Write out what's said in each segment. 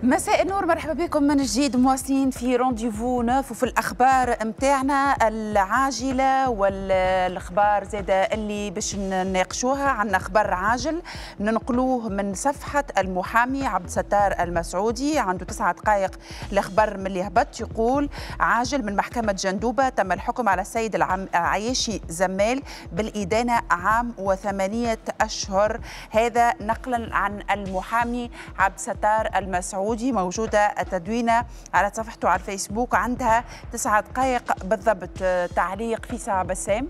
مساء النور، مرحبا بكم من جديد، مواصلين في rendez-vous neuf وفي الاخبار متاعنا العاجلة والاخبار زاده اللي باش نناقشوها. عندنا خبر عاجل ننقلوه من صفحة المحامي عبد الستار المسعودي، عنده 9 دقائق الخبر من اللي هبط. يقول: عاجل من محكمة جندوبه، تم الحكم على السيد العياشي زمال بالادانه عام و8 اشهر. هذا نقلا عن المحامي عبد الستار المسعودي، موجودة التدوينة على صفحته على الفيسبوك، عندها 9 دقائق بالضبط. تعليق فيسع بسام.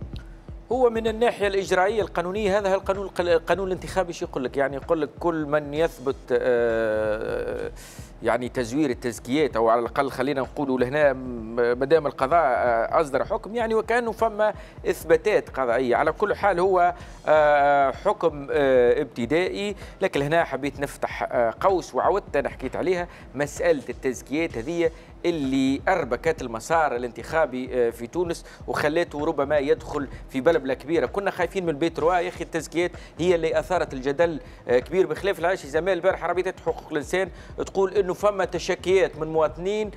هو من الناحية الإجرائية القانونية، هذا القانون، القانون الانتخابي شو يقول لك؟ يعني يقول لك كل من يثبت يعني تزوير التزكيات، او على الاقل خلينا نقولوا لهنا ما دام القضاء اصدر حكم، يعني وكانه فما اثباتات قضائيه. على كل حال هو حكم ابتدائي، لكن هنا حبيت نفتح قوس وعودت انا حكيت عليها، مسالة التزكيات هذه اللي اربكت المسار الانتخابي في تونس وخلته ربما يدخل في بلبلة كبيره. كنا خايفين من ال B3 يا اخي التزكيات هي اللي اثارت الجدل كبير. بخلاف العياشي زمال، البارح رابطه حقوق الانسان تقول انه فما تشكيات من مواطنين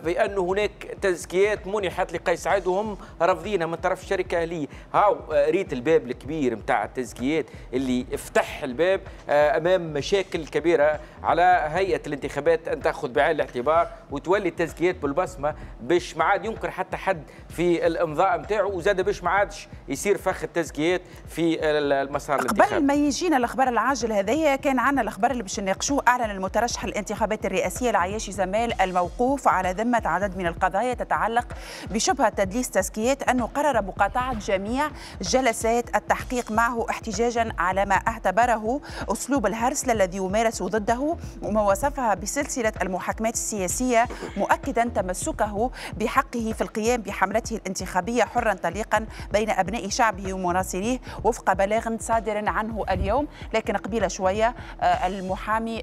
بأن هناك تزكيات منحت لقيس سعيد وهم رافضينها من طرف شركة اهليه. هاو ريت الباب الكبير نتاع التزكيات اللي افتح الباب امام مشاكل كبيره. على هيئة الانتخابات ان تاخذ بعين الاعتبار وتولي التزكيات بالبصمه، باش ما عاد ينكر حتى حد في الامضاء نتاعو، وزاد باش ما عادش يصير فخ التزكيات في المسار الانتخابي. قبل ما يجينا الاخبار العاجل هذايا، كان عندنا الاخبار اللي باش نناقشوه. اعلن المترشح الانتخابات الرئاسية العياشي زمال، الموقوف على ذمه عدد من القضايا تتعلق بشبهه تدليس تزكيات، انه قرر مقاطعه جميع جلسات التحقيق معه احتجاجا على ما اعتبره اسلوب الهرسله الذي يمارس ضده وما وصفها بسلسلة المحاكمات السياسيه، مؤكدا تمسكه بحقه في القيام بحملته الانتخابية حرا طليقا بين ابناء شعبه ومناصريه، وفق بلاغ صادر عنه اليوم. لكن قبيلة شوية المحامي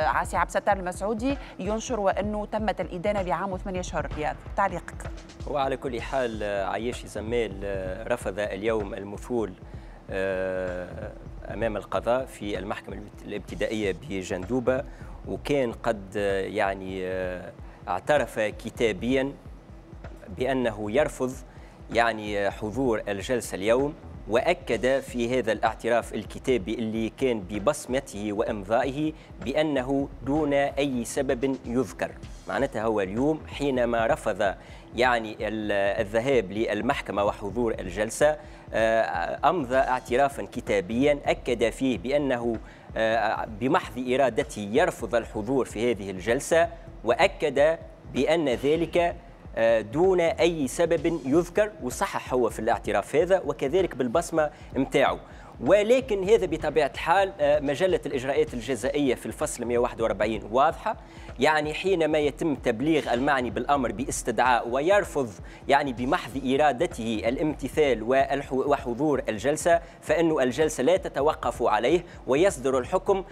عاسي عبد الستار المسعودي ينشر وانه تمت الادانه بعام و8 اشهر. رياض، تعليقك. وعلى كل حال عياشي زمال رفض اليوم المثول امام القضاء في المحكمة الابتدائية بجندوبه، وكان قد يعني اعترف كتابيا بانه يرفض يعني حضور الجلسة اليوم، واكد في هذا الاعتراف الكتابي اللي كان ببصمته وامضائه بانه دون اي سبب يذكر. معناتها هو اليوم حينما رفض يعني الذهاب للمحكمة وحضور الجلسه، امضى اعترافا كتابيا اكد فيه بانه بمحض ارادته يرفض الحضور في هذه الجلسه، واكد بان ذلك دون اي سبب يذكر، وصحح هو في الاعتراف هذا وكذلك بالبصمه متاعه. ولكن هذا بطبيعة الحال مجلة الاجراءات الجزائيه في الفصل 141 واضحه، يعني حينما يتم تبليغ المعني بالامر باستدعاء ويرفض يعني بمحض ارادته الامتثال وحضور الجلسه، فانه الجلسة لا تتوقف عليه، ويصدر الحكم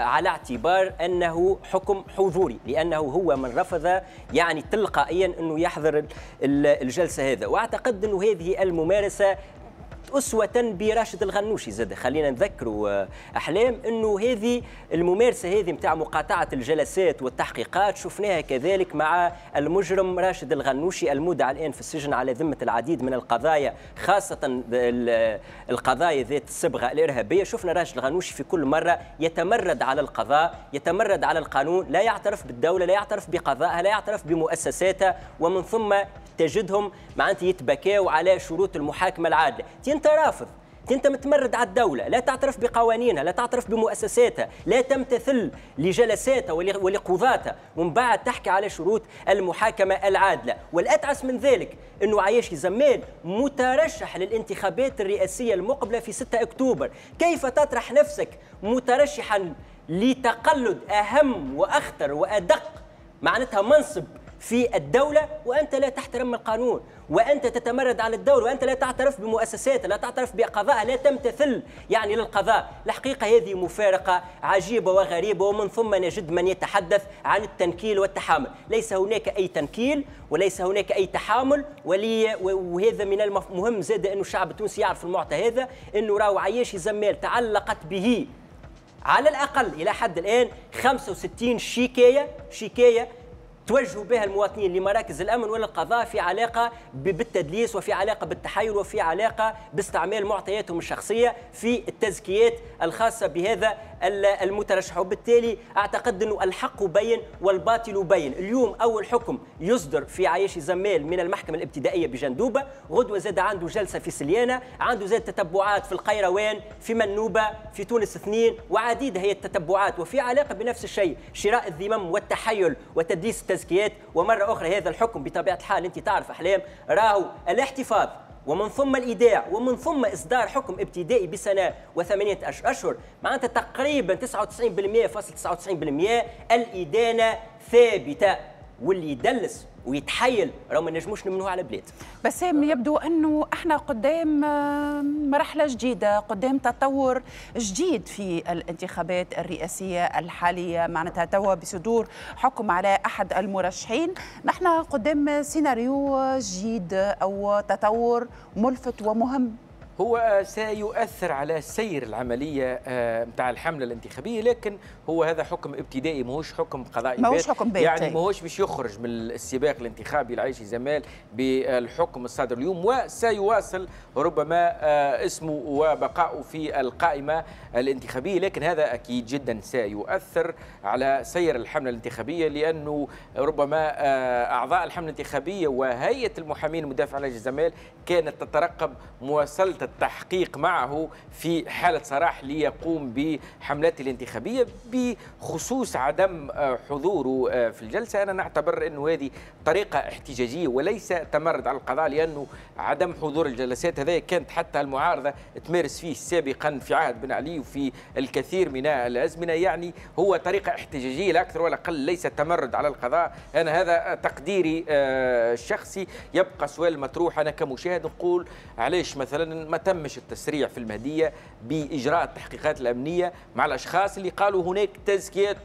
على اعتبار انه حكم حضوري، لانه هو من رفض يعني تلقائيا انه يحضر الجلسة هذا. واعتقد انه هذه الممارسة أسوة براشد الغنوشي زاد. خلينا نذكروا أحلام أنه هذه الممارسة هذه متاع مقاطعة الجلسات والتحقيقات شفناها كذلك مع المجرم راشد الغنوشي المودع الآن في السجن على ذمة العديد من القضايا، خاصة القضايا ذات الصبغة الإرهابية. شفنا راشد الغنوشي في كل مرة يتمرد على القضاء، يتمرد على القانون، لا يعترف بالدولة، لا يعترف بقضائها، لا يعترف بمؤسساتها، ومن ثم تجدهم معناتها يتبكاوا على شروط المحاكمة العادلة. انت رافض، انت متمرد على الدولة، لا تعترف بقوانينها، لا تعترف بمؤسساتها، لا تمتثل لجلساتها ولقضاتها، ومن بعد تحكي على شروط المحاكمة العادلة. والأتعس من ذلك أنه عياشي زمال مترشح للانتخابات الرئاسية المقبلة في 6 أكتوبر. كيف تطرح نفسك مترشحا لتقلد أهم وأخطر وأدق معناتها منصب في الدولة وأنت لا تحترم القانون، وأنت تتمرد على الدولة، وأنت لا تعترف بمؤسساتها، لا تعترف بقضاء، لا تمتثل يعني للقضاء؟ الحقيقة هذه مفارقة عجيبة وغريبة. ومن ثم نجد من يتحدث عن التنكيل والتحامل. ليس هناك أي تنكيل وليس هناك أي تحامل. وهذا من المهم زاد أنه الشعب التونسي يعرف المعطى هذا، أنه راهو عياشي زمال تعلقت به على الأقل إلى حد الآن 65 شكاية توجهوا بها المواطنين لمراكز الأمن وللقضاء في علاقة بالتدليس وفي علاقة بالتحايل وفي علاقة باستعمال معطياتهم الشخصية في التزكيات الخاصة بهذا المترشح. وبالتالي أعتقد أنه الحق بين والباطل بين. اليوم أول حكم يصدر في عياشي زمال من المحكمة الابتدائية بجندوبة، غدوة زاد عنده جلسة في سليانة، عنده زاد تتبعات في القيروان، في منوبة، في تونس 2، وعديدة هي التتبعات وفي علاقة بنفس الشيء، شراء الذمم والتحيل وتدليس التزكيات. ومرة أخرى هذا الحكم بطبيعة الحال أنت تعرف أحلام راهو الاحتفاظ ومن ثم الإيداع ومن ثم إصدار حكم ابتدائي بسنة و8 أشهر، معناتها تقريبا 99.99% الإدانة ثابتة، واللي يدلس ويتحايل راهو ما نجموش نمنوه على بلاد. بس يبدو أنه احنا قدام مرحلة جديدة، قدام تطور جديد في الانتخابات الرئاسية الحالية، معناتها توا بصدور حكم على أحد المرشحين نحن قدام سيناريو جديد أو تطور ملفت ومهم. هو سيؤثر على سير العملية متاع الحملة الانتخابية، لكن هو هذا حكم ابتدائي ماهوش حكم قضائي، ماهوش حكم بات، يعني ماهوش باش يخرج من السباق الانتخابي العيشي زمال بالحكم الصادر اليوم، وسيواصل ربما اسمه وبقائه في القائمة الانتخابية. لكن هذا أكيد جدا سيؤثر على سير الحملة الانتخابية، لأنه ربما أعضاء الحملة الانتخابية وهيئة المحامين المدافع عن العياشي زمال كانت تترقب مواصلة التحقيق معه في حالة سراح ليقوم بحملاته الانتخابية بخصوص عدم حضوره في الجلسة. أنا نعتبر أنه هذه طريقة احتجاجية وليس تمرد على القضاء، لأنه عدم حضور الجلسات هذا كانت حتى المعارضة تمارس فيه سابقا في عهد بن علي وفي الكثير من الأزمنة، يعني هو طريقة احتجاجية لا أكثر ولا أقل، ليس تمرد على القضاء. أنا هذا تقديري الشخصي. يبقى سؤال مطروح، أنا كمشاهد نقول علاش مثلا ما تمش التسريع في المهدية بإجراء التحقيقات الأمنية مع الأشخاص اللي قالوا هناك تزكيات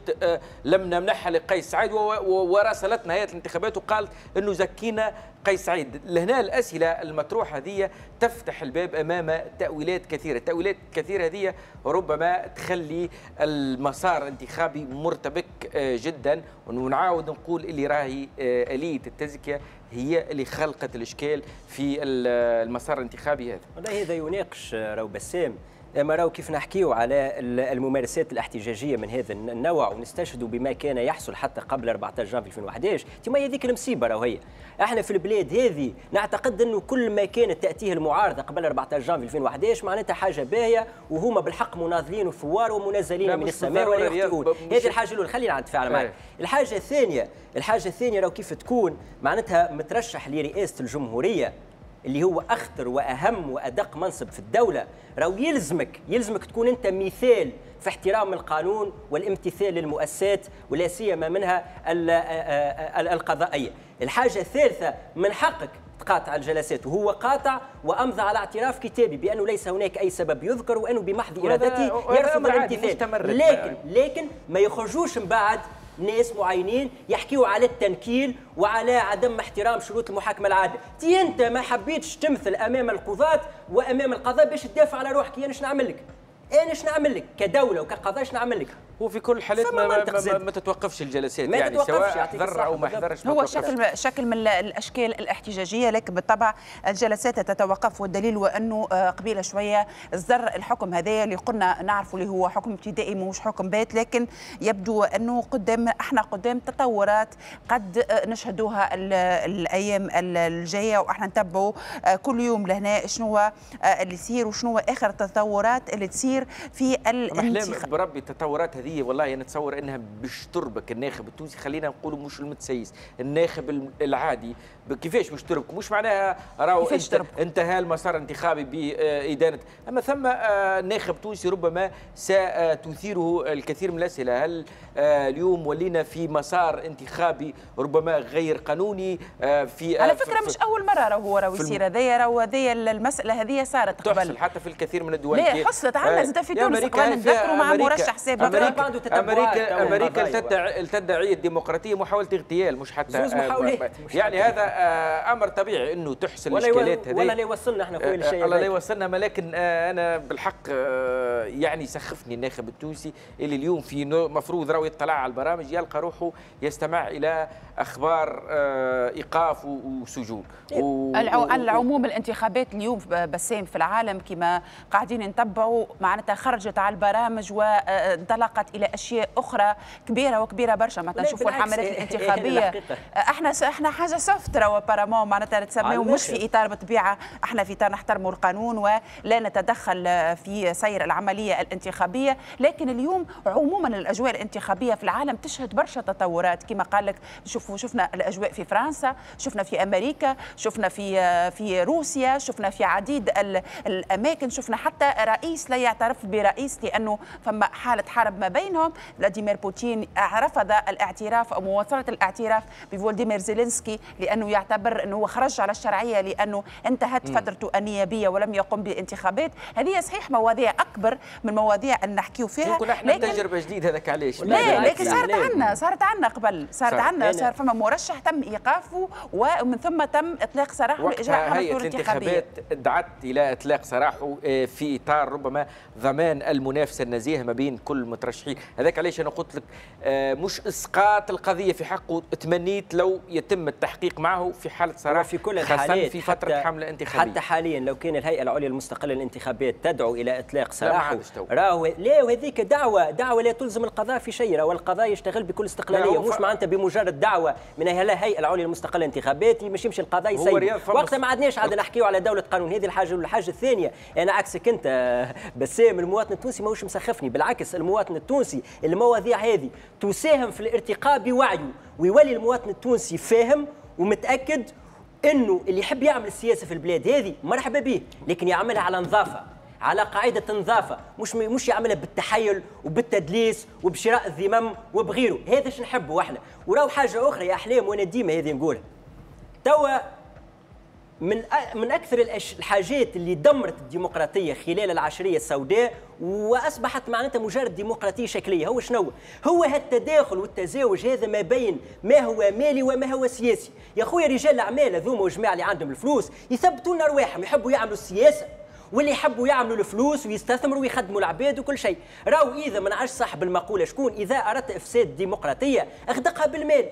لم نمنحها لقيس سعيد، وراسلتنا هيئة الانتخابات وقالت أنه زكينا قيس سعيد. لهنا الأسئلة المطروحة هذه تفتح الباب أمام تأويلات كثيرة، التأويلات الكثيرة هذه ربما تخلي المسار الانتخابي مرتبك جدا. ونعاود نقول اللي راهي آلية التزكية هي اللي خلقت الإشكال في المسار الانتخابي هذا. والله هذا يناقش راهو بسام، اما راهو كيف نحكيو على الممارسات الاحتجاجية من هذا النوع ونستشهدوا بما كان يحصل حتى قبل 14 جانفي 2011، تما هذيك المصيبة راهو هي. احنا في البلاد هذه نعتقد انه كل ما كانت تاتيه المعارضة قبل 14 جانفي 2011 معناتها حاجة باهيه، وهما بالحق مناضلين وثوار ومنزلين من السماء ولا يخطئون. هذه الحاجة الاولى، خلينا نتفاعل معك. الحاجة الثانية راهو كيف تكون معناتها مترشح لرئاسة الجمهورية اللي هو أخطر وأهم وأدق منصب في الدولة، راهو يلزمك تكون أنت مثال في احترام القانون والامتثال للمؤسسات ولا سيما منها القضائية. الحاجة الثالثة، من حقك تقاطع الجلسات، وهو قاطع وأمضى على اعتراف كتابي بأنه ليس هناك أي سبب يذكر وأنه بمحض إرادته يرفض الامتثال، لكن ما يخرجوش من بعد ناس معينين يحكيوا على التنكيل وعلى عدم احترام شروط المحاكمة العادلة. تي انت ما حبيتش تمثل امام القضاة وامام القضاء باش تدافع على روحك، انا شنو نعمل لك؟ انا شنو نعمل لك كدولة وكقضاء؟ شنو نعمل لك؟ هو في كل الحالات ما تتوقفش الجلسات، ما يعني سواء حضر او ما حضرش. هو شكل من الاشكال الاحتجاجية، لكن بالطبع الجلسات تتوقف، والدليل هو انه قبيلة شوية صدر الحكم هذايا اللي قلنا نعرفوا اللي هو حكم ابتدائي ماهوش حكم بات، لكن يبدو انه احنا قدام تطورات قد نشهدوها الايام الجاية، واحنا نتبعوا كل يوم لهنا شنو اللي يصير وشنو اخر التطورات اللي تصير في الانتخابات. بربي التطورات هذه والله نتصور انها باش تربك الناخب التونسي، خلينا نقولوا مش المتسيس، الناخب العادي كيفاش باش تربك؟ مش معناها راهو انتهى المسار الانتخابي بإدانة، اما ثم ناخب تونسي ربما ستثيره الكثير من الاسئلة. هل اليوم ولينا في مسار انتخابي ربما غير قانوني؟ في على فكرة مش اول مرة راهو يصير هذايا، راهو هذه المسالة هذه صارت قبل، تحصل حتى في الكثير من الدول. لا حصلت عندنا زاد في تونس قبل، نتذكروا مع مرشح سابق امريكا امريكا تدعي الديمقراطية محاولة اغتيال، مش حتى زوز محاولات، يعني هذا امر طبيعي انه تحصل الاشكالات هذه. ولا لا يوصلنا احنا خويا للشيء، الله لا يوصلنا، ولكن انا بالحق يعني سخفني الناخب التونسي اللي اليوم في مفروض راهو يطلع على البرامج يلقى روحه يستمع الى اخبار ايقاف وسجون. على العموم الانتخابات اليوم بسام في العالم كما قاعدين نتبعوا معناتها خرجت على البرامج وانطلقت الى اشياء اخرى كبيرة وكبيره برشا. معناتها نشوفوا الحملات الانتخابية احنا حاجة soft راهو apparemment، معناتها نتسميو مش في اطار بالطبيعة، احنا في اطار نحترموا القانون ولا نتدخل في سير العملية الانتخابية، لكن اليوم عموما الاجواء الانتخابية في العالم تشهد برشا تطورات كما قال لك. شفنا الاجواء في فرنسا، شفنا في امريكا، شفنا في روسيا، شفنا في عديد الاماكن، شفنا حتى رئيس لا يعترف برئيس لانه فما حاله حرب ما بينهم. فلاديمير بوتين رفض الاعتراف او مواصلة الاعتراف بفولوديمير زيلينسكي لانه يعتبر انه هو خرج على الشرعية لانه انتهت فترته النيابية ولم يقم بانتخابات. هذه صحيح مواضيع اكبر من مواضيع ان نحكيو فيها، لكن تجربه جديدة هذاك علاش. لا لكن صارت عندنا قبل، صارت عندنا، صار فما مرشح تم ايقافه ومن ثم تم اطلاق سراحه لاجراء حملته الانتخابية. الانتخابات دعت الى اطلاق سراحه في اطار ربما ضمان المنافسة النزيهه ما بين كل المترشحين. هذاك علاش انا قلت لك مش اسقاط القضية في حقه، تمنيت لو يتم التحقيق معه في حاله سراح في كل الحالات، في فترة حمله انتخابية. حتى حاليا لو كان الهيئة العليا المستقلة للانتخابات تدعو الى اطلاق سراحه راهو لا، وهذيك دعوه لا تلزم القضاء في شيء، راهو القضاء يشتغل بكل استقلالية، مش معناتها بمجرد دعوه من الهيئة العليا المستقلة للانتخابات مش يمشي القضاء يسيب. وقتها ما عدناش عاد نحكيو على دولة قانون. هذه الحاجة. والحاجة الثانية انا عكسك انت بسام، المواطن التونسي ماهوش مسخفني، بالعكس المواطن التونسي المواضيع هذه تساهم في الارتقاء بوعيه، ويولي المواطن التونسي فاهم ومتاكد انه اللي يحب يعمل السياسة في البلاد هذه مرحبا به، لكن يعملها على نظافة، على قاعدة نظافة، مش يعملها بالتحيل وبالتدليس وبشراء الذمم وبغيره. هذا اش نحبه احنا. وراو حاجة اخرى يا احلام وانا ديما هذه نقولها توا، من اكثر الحاجات اللي دمرت الديمقراطية خلال العشريه السوداء واصبحت معناتها مجرد ديمقراطية شكلية هو شنو؟ هو هالتداخل والتزاوج هذا ما بين ما هو مالي وما هو سياسي. يا خويا رجال الاعمال هذوما وجماعه اللي عندهم الفلوس يثبتوا لنا رواحهم، يحبوا يعملوا السياسة واللي يحبوا يعملوا الفلوس ويستثمروا ويخدموا العباد وكل شيء. راهو اذا ما نعرفش صاحب المقولة شكون، اذا اردت افساد الديمقراطية اغدقها بالمال.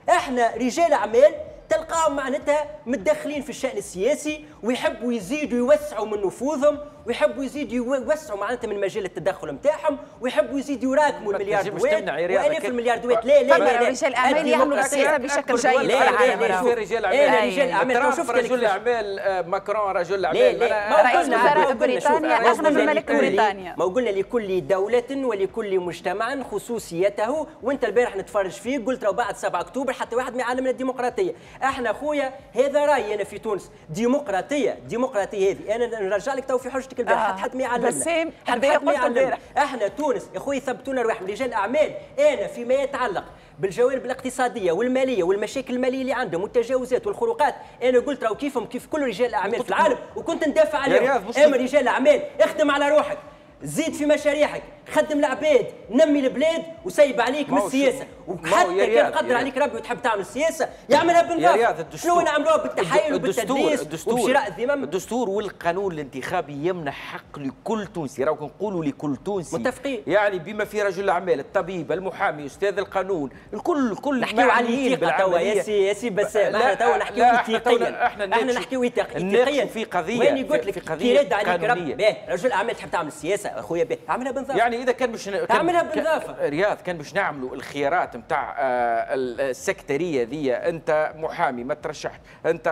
احنا رجال اعمال تلقاهم معناتها متدخلين في الشأن السياسي ويحبوا يزيدوا يوسعوا من نفوذهم، ويحبوا يزيدوا يوسعوا معناتها من مجال التدخل نتاعهم، ويحبوا يزيدوا يراكموا الملياردوات والاف الملياردوات. لا لا لا، رجال اعمال يعملوا السياسة بشكل جيد. لا لا لا، رجال اعمال، رجال اعمال. شفت رجل اعمال ماكرون رجل اعمال، رئيس وزراء بريطانيا اغنى من ملك بريطانيا. ما قلنا لكل دولة ولكل مجتمع خصوصيته، وانت البارح نتفرج فيك قلت لو بعد 7 اكتوبر حتى واحد ما يعلمنا الديمقراطية. احنا خويا هذا رايي انا في تونس، ديمقراطية ديمقراطية هذه انا نرجع لك تو في حجتك البارح، حتى ما يعلمنا، حتى ما يعلمنا. احنا تونس يا خويا ثبتونا رواحهم رجال اعمال. انا فيما يتعلق بالجوانب الاقتصادية والمالية والمشاكل المالية اللي عندهم والتجاوزات والخروقات، انا قلت راهو كيفهم كيف كل رجال الاعمال في العالم، وكنت ندافع عليهم. اما رجال الاعمال اخدم على روحك، زيد في مشاريعك، خدم العباد، نمي البلاد، وسيب عليك من السياسة. وحتى كان قدر عليك ربي وتحب تعمل السياسة يعملها بالنظافة. شنو نعملوها بالتحايل وبالتدليس وبشراء الذمم؟ الدستور والقانون الانتخابي يمنح حق لكل تونسي، راهو نقولوا لكل تونسي متفقين، يعني بما في رجل الاعمال، الطبيب، المحامي، استاذ القانون، الكل نحكيو على الثقة توا يا سي بسام. احنا توا نحكيو اتقيا، احنا نحكيو اتقيا في قضية. وين قلت لك كي رد عليك ربي رجل اعمال تحب تعمل السياسة اخويا باهي اعملها بنظافه. يعني اذا كان باش اعملها بنظافه رياض، كان باش نعملوا الخيارات نتاع السكتريه ذي، انت محامي ما ترشحش، انت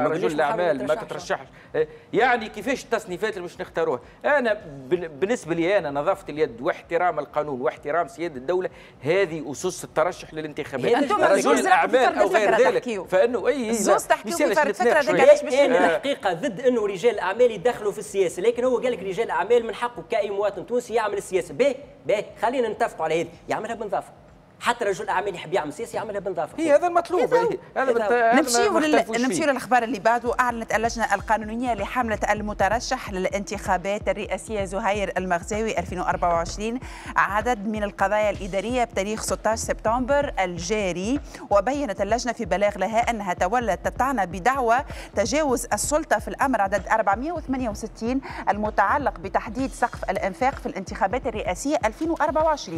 رجل اعمال ما تترشحش، يعني كيفاش التصنيفات اللي باش نختاروها؟ انا بالنسبة لي انا نظافة اليد واحترام القانون واحترام سيادة الدولة هذه اسس الترشح للانتخابات. رجل الاعمال او غير ذلك فانه اي زوز تحكيو في فرد فكرة ذيك. انا الحقيقة ضد انه رجال الاعمال يدخلوا في السياسة، لكن هو قال لك رجال الاعمال من حقه كاي مواطن تونسي يعمل السياسة. باهي باهي، خلينا نتفقوا على هذه، يعملها بنظافه. حتى رجل اعمال يحب يعمل سياسة يعملها بنظافه. هي هذا المطلوب. هذا نمشيو للاخبار اللي بعده. اعلنت اللجنة القانونية لحمله المترشح للانتخابات الرئاسية زهير المغزاوي 2024 عدد من القضايا الادارية بتاريخ 16 سبتمبر الجاري، وبينت اللجنة في بلاغ لها انها تولت الطعن بدعوى تجاوز السلطة في الامر عدد 468 المتعلق بتحديد سقف الانفاق في الانتخابات الرئاسية 2024،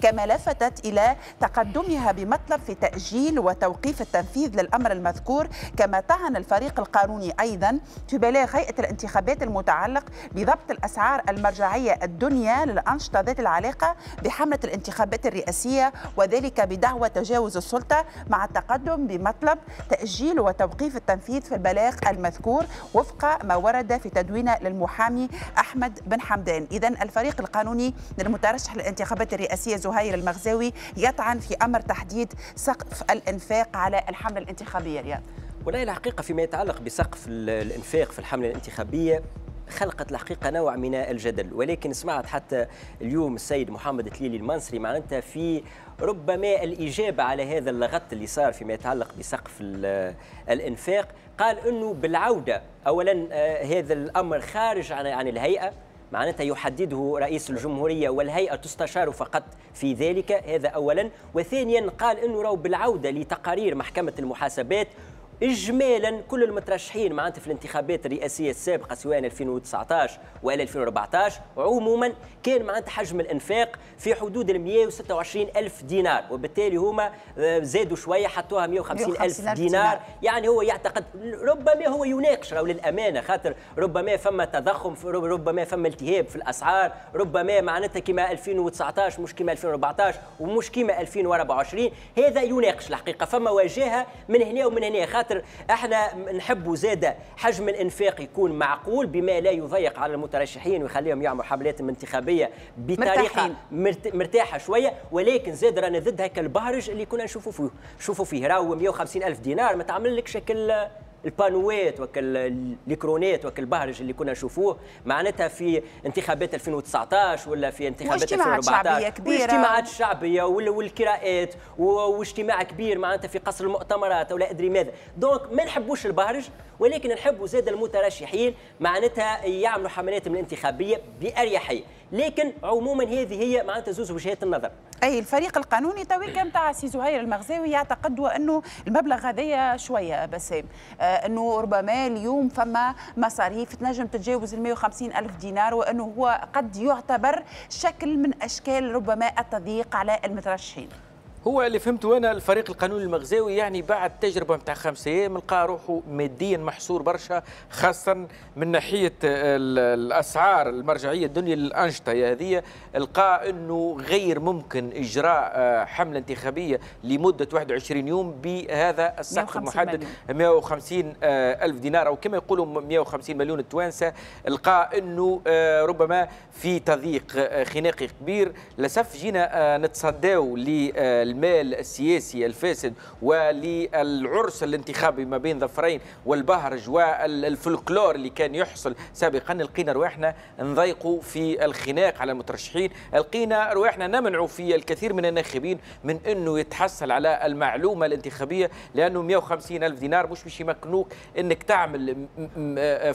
كما لفتت الى تقدمها بمطلب في تأجيل وتوقيف التنفيذ للأمر المذكور. كما طعن الفريق القانوني أيضا في بلاغ هيئة الانتخابات المتعلق بضبط الأسعار المرجعية الدنيا للأنشطة ذات العلاقة بحملة الانتخابات الرئاسية، وذلك بدعوى تجاوز السلطة مع التقدم بمطلب تأجيل وتوقيف التنفيذ في البلاغ المذكور وفق ما ورد في تدوينه للمحامي أحمد بن حمدان. إذن الفريق القانوني للمترشح للانتخابات الرئاسية زهير المغزاوي يطعن في أمر تحديد سقف الإنفاق على الحملة الانتخابية. رياض، والله الحقيقة فيما يتعلق بسقف الإنفاق في الحملة الانتخابية خلقت الحقيقة نوع من الجدل، ولكن سمعت حتى اليوم السيد محمد تليلي المنصري معناتها في ربما الإجابة على هذا اللغط اللي صار فيما يتعلق بسقف الإنفاق، قال أنه بالعودة أولا هذا الأمر خارج عن الهيئة، معناتها يحدده رئيس الجمهورية والهيئة تستشار فقط في ذلك، هذا أولا. وثانيا قال أنه راهو بالعودة لتقارير محكمة المحاسبات إجمالا كل المترشحين معناتها في الانتخابات الرئاسية السابقة سواء 2019 ولا 2014 عموما كان معناتها حجم الإنفاق في حدود ال 126 ألف دينار، وبالتالي هما زادوا شوية حطوها 150 ألف دينار. يعني هو يعتقد ربما هو يناقش راهو للأمانة، خاطر ربما فما تضخم، ربما فما التهاب في الأسعار، ربما معناتها كما 2019 مش كما 2014 ومش كما 2024، هذا يناقش الحقيقة. فما واجهة من هنا ومن هنا، خاطر احنا نحبوا زاده حجم الانفاق يكون معقول بما لا يضيق على المترشحين ويخليهم يعملوا حملات انتخابية بطريقة مرتاحة شوية، ولكن زاد رانا ضد هكا البهرج اللي كنا نشوفوا فيه. راهو 150 الف دينار ما تعمل لك شكل البانوات وكل الكرونات وكل البهرج اللي كنا نشوفوه معناتها في انتخابات 2019 ولا في انتخابات 2014، واجتماعات شعبية والكراءات واجتماع كبير معناتها في قصر المؤتمرات ولا ادري ماذا. donc ما نحبوش البهرج، ولكن نحبوا زاد المترشحين معناتها يعملوا حملاتهم الانتخابية باريحية، لكن عموما هذه هي معناتها زوز وجهات النظر. اي الفريق القانوني تويك نتاع سي زهير المغزاوي يعتقد انه المبلغ هذايا شوية بسام، انه ربما اليوم فما مصاريف تنجم تتجاوز ال 150 الف دينار، وانه هو قد يعتبر شكل من اشكال ربما التضييق على المترشحين. هو اللي فهمته انا الفريق القانوني المغزاوي يعني بعد تجربه نتاع 5 ايام لقى روحه ماديا محصور برشا، خاصة من ناحية الاسعار المرجعية الدنيا للانشطه هذه، لقى انه غير ممكن اجراء حمله انتخابية لمدة 21 يوم بهذا السقف المحدد 150 الف دينار او كما يقولوا 150 مليون التوانسة. لقى انه ربما في تضييق خناقي كبير. للاسف جينا نتصداو المال السياسي الفاسد وللعرس الانتخابي ما بين ظفرين والبهرج والفلكلور اللي كان يحصل سابقا، لقينا رواحنا نضيقوا في الخناق على المترشحين، لقينا رواحنا نمنعوا في الكثير من الناخبين من انه يتحصل على المعلومة الانتخابية، لانه 150 الف دينار مش باش يمكنوك انك تعمل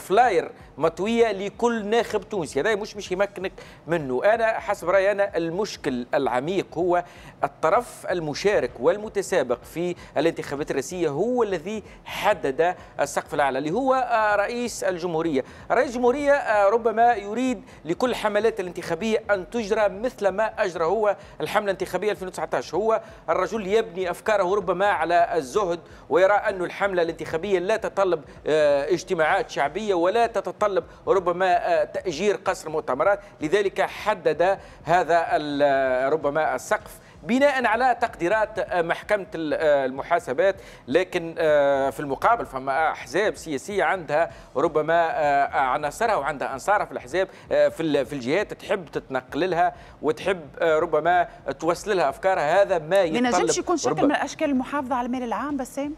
flyer مطويه لكل ناخب تونسي، هذا مش باش يمكنك منه. انا حسب رايي انا المشكل العميق هو الطرف المشارك والمتسابق في الانتخابات الرئاسية هو الذي حدد السقف الأعلى اللي هو رئيس الجمهورية. رئيس الجمهورية ربما يريد لكل حملات الانتخابية أن تجرى مثل ما أجرى هو الحملة الانتخابية 2019. هو الرجل يبني أفكاره ربما على الزهد ويرى أن الحملة الانتخابية لا تتطلب اجتماعات شعبية ولا تتطلب ربما تأجير قصر مؤتمرات، لذلك حدد هذا ربما السقف بناء على تقديرات محكمة المحاسبات. لكن في المقابل فما أحزاب سياسية عندها ربما عناصرها وعندها أنصارها في الأحزاب في الجهات تحب تتنقل لها وتحب ربما توصل لها أفكارها. هذا ما يتطلب، ما ينجمش يكون شكل من أشكال المحافظة على المال العام بسام.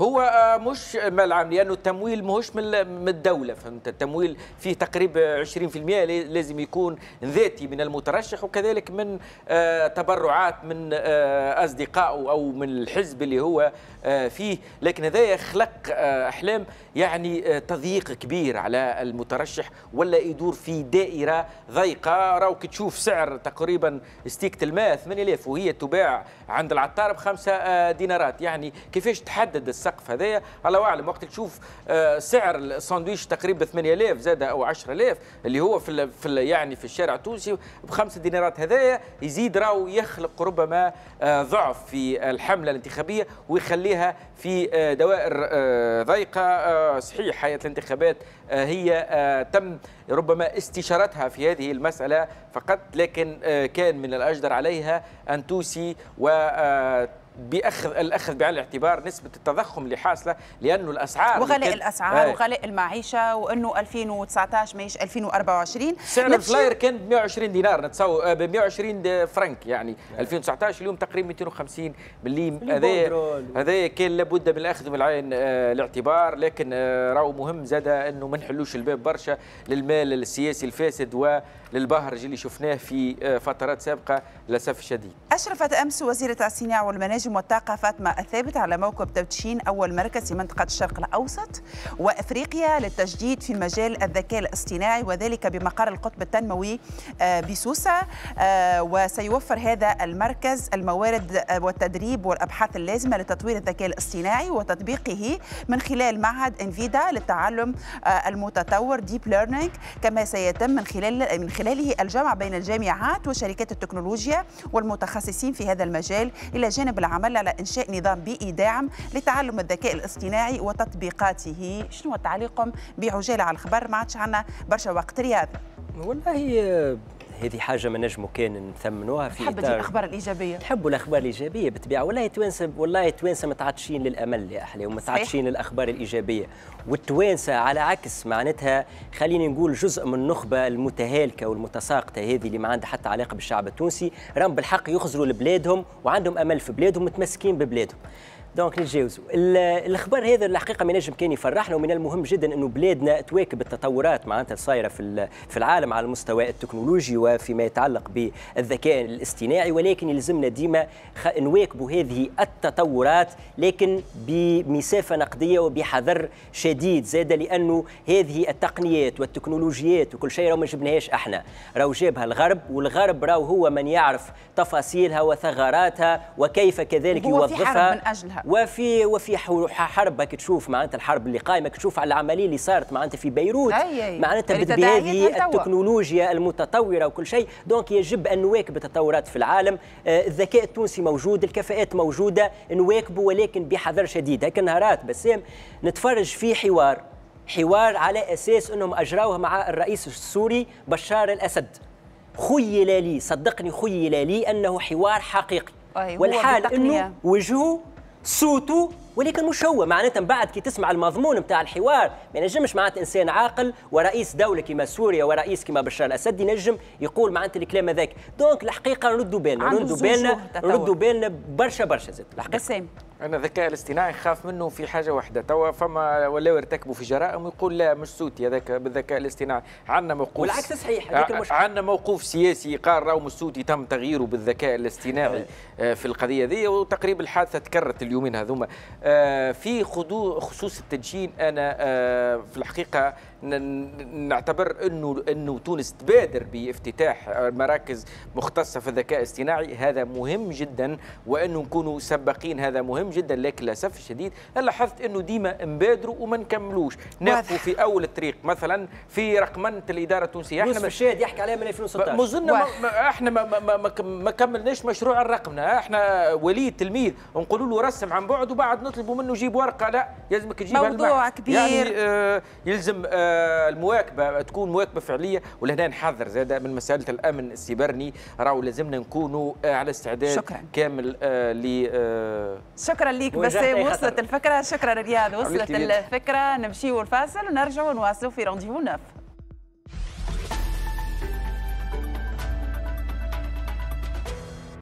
هو مش مال عام، لانه التمويل ماهوش من الدولة، فهمت؟ التمويل فيه تقريبا 20% لازم يكون ذاتي من المترشح، وكذلك من تبرعات من اصدقائه او من الحزب اللي هو فيه. لكن هذا يخلق احلام يعني تضييق كبير على المترشح، ولا يدور في دائرة ضيقه. راهو كي تشوف سعر تقريبا ستيكه الماء 8000 وهي تباع عند العطار ب5 دينارات، يعني كيفاش تحدد السقف هذايا؟ الله اعلم. وقت تشوف سعر الساندويش تقريبا 8000 زاد او 10000 اللي هو في يعني في الشارع التونسي ب5 دينارات، هذايا يزيد راهو يخلق ربما ضعف في الحملة الانتخابية ويخليها في دوائر ضيقه. صحيح هيئة الانتخابات هي تم ربما استشارتها في هذه المسالة فقط، لكن كان من الاجدر عليها ان توصي و باخذ الاخذ بعين الاعتبار نسبه التضخم اللي حاصله، لانه الاسعار وغلاء الاسعار وغلاء المعيشة، وانه 2019 ماهيش 2024. سعر ال flyer كان ب 120 دينار نتصور، ب 120 فرنك يعني 2019، اليوم تقريبا 250 مليم. هذا كان لابد من الاخذ من عين الاعتبار، لكن راهو مهم زاد انه ما نحلوش الباب برشا للمال السياسي الفاسد وللبهرج اللي شفناه في فترات سابقه للاسف الشديد. اشرفت امس وزيره الصناعة والمناجم والطاقة فاطمة الثابت على موكب تدشين أول مركز في منطقة الشرق الأوسط وأفريقيا للتجديد في مجال الذكاء الاصطناعي، وذلك بمقر القطب التنموي بسوسة. وسيوفر هذا المركز الموارد والتدريب والأبحاث اللازمة لتطوير الذكاء الاصطناعي وتطبيقه من خلال معهد انفيدا للتعلم المتطور deep learning، كما سيتم من خلاله الجمع بين الجامعات وشركات التكنولوجيا والمتخصصين في هذا المجال، إلى جانب العمل على إنشاء نظام بيئي داعم لتعلم الذكاء الاصطناعي وتطبيقاته. شنو تعليقكم بعجالة على الخبر؟ ما عادش عندنا برشا وقت. رياض، والله هذه حاجة ما نجموا كان نثمنوها في إطار الأخبار الإيجابية. نحبوا الأخبار الإيجابية بالطبيعة. والله التوانسة، والله التوانسة متعطشين للأمل يا أحلى، ومتعطشين للأخبار الإيجابية. والتوانسة على عكس معناتها خليني نقول جزء من النخبة المتهالكة والمتساقطة هذه اللي ما عندها حتى علاقة بالشعب التونسي، راهم بالحق يخزروا لبلادهم وعندهم أمل في بلادهم، متمسكين ببلادهم. donc نتجاوزوا الخبر هذا. الحقيقة ما نجم كان يفرحنا، ومن المهم جدا انه بلادنا تواكب التطورات معناتها الصايره في العالم على المستوى التكنولوجي وفيما يتعلق بالذكاء الاصطناعي، ولكن يلزمنا ديما نواكبوا هذه التطورات لكن بمسافه نقدية وبحذر شديد زاد، لانه هذه التقنيات والتكنولوجيات وكل شيء راهو ما جبناهاش احنا، راهو جابها الغرب، والغرب راهو هو من يعرف تفاصيلها وثغراتها وكيف كذلك يوظفها من اجلها. وفي حرب تشوف معناتها الحرب اللي قائمة، تشوف على العملية اللي صارت معناتها في بيروت معناتها بهذه التكنولوجيا المتطورة وكل شيء. donc يجب ان نواكب التطورات في العالم. الذكاء التونسي موجود، الكفاءات موجودة، نواكبه ولكن بحذر شديد. هكا نهارات بسام نتفرج في حوار على اساس انهم اجراوه مع الرئيس السوري بشار الاسد. خيل لي، صدقني خيل لي انه حوار حقيقي، والحال انه وجهه صوته ولكن مش هو. معناتها من بعد كي تسمع المضمون نتاع الحوار ما ينجمش معناتها انسان عاقل ورئيس دولة كيما سوريا ورئيس كيما بشار الاسد ينجم يقول معناتها الكلام هذاك. donc الحقيقة نردوا بالنا، نردوا بالنا برشا برشا زاد الحقيقة. انا الذكاء الاصطناعي خاف منه في حاجة واحدة، توا فما ولاو يرتكبوا في جرائم ويقول لا مش صوتي هذاك بالذكاء الاصطناعي. عندنا موقوف، والعكس صحيح، هذاك المشكل. عندنا موقوف سياسي قال راهو مش صوتي، تم تغييره بالذكاء الاصطناعي في القضية ذي، وتقريبا الحادثة تكررت اليومين هذوما. في خصوص التدشين، انا في الحقيقة نعتبر انه تونس تبادر بافتتاح مراكز مختصة في الذكاء الاصطناعي، هذا مهم جدا، وانه نكونوا سباقين هذا مهم جدا. لكن للاسف الشديد لاحظت انه ديما نبادروا وما نكملوش، نقفوا في اول الطريق. مثلا في رقمنه الادارة التونسية، احنا الشاهد يحكي عليها من 2016، مازلنا احنا ما كملناش مشروع الرقمنه. احنا ولي التلميذ نقولوا له رسم عن بعد وبعد نطلبوا منه جيب ورقة، لا يلزمك تجيبها. موضوع كبير يعني، يلزم المواكبه تكون مواكبة فعليه. ولهنا نحذر زاد من مسالة الامن السيبرني، راهو لازمنا نكونوا على استعداد. شكرا. كامل ل شكرا ليك بسام، وصلت الفكرة. شكرا رياض، وصلت الفكرة. نمشيو الفاصل ونرجعوا نواصلوا في rendez-vous neuf.